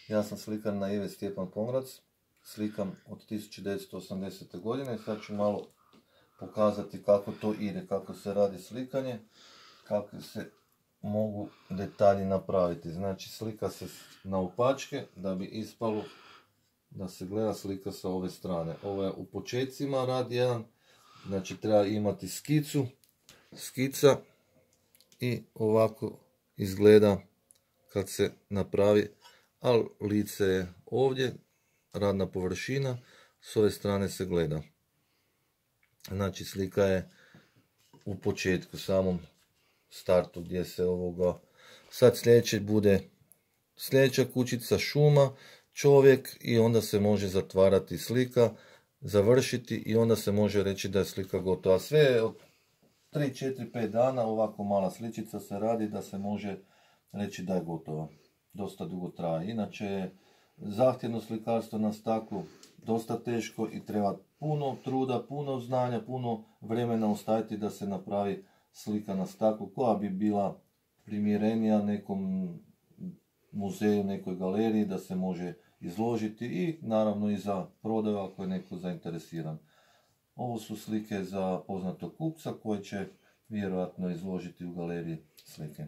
Ja sam slikar na Ive Stjepan Pomrac, slikam od 1980. godine. Sad ću malo pokazati kako to ide, kako se radi slikanje, kako se mogu detalji napraviti. Znači slika se na opačke da bi ispalo da se gleda slika sa ove strane. Ovo je u početcima rad jedan, znači treba imati skicu, skica i ovako izgleda kad se napravi, ali lice je ovdje, radna površina, s ove strane se gleda. Znači slika je u početku, samom startu gdje se ovoga. Sad sljedeće bude sljedeća kućica, šuma, čovjek i onda se može zatvarati slika, završiti i onda se može reći da je slika gotova. Sve je od 3, 4, 5 dana ovako mala sličica se radi da se može reći da je gotova. Dosta dugo traje. Inače je zahtjevno slikarstvo na staklu dosta teško i treba puno truda, puno znanja, puno vremena ostaviti da se napravi slika na staklu koja bi bila primjerenija nekom muzeju, nekoj galeriji da se može izložiti i naravno i za prodaju ako je neko zainteresiran. Ovo su slike za poznatog kupca koje će vjerojatno izložiti u galeriji slike.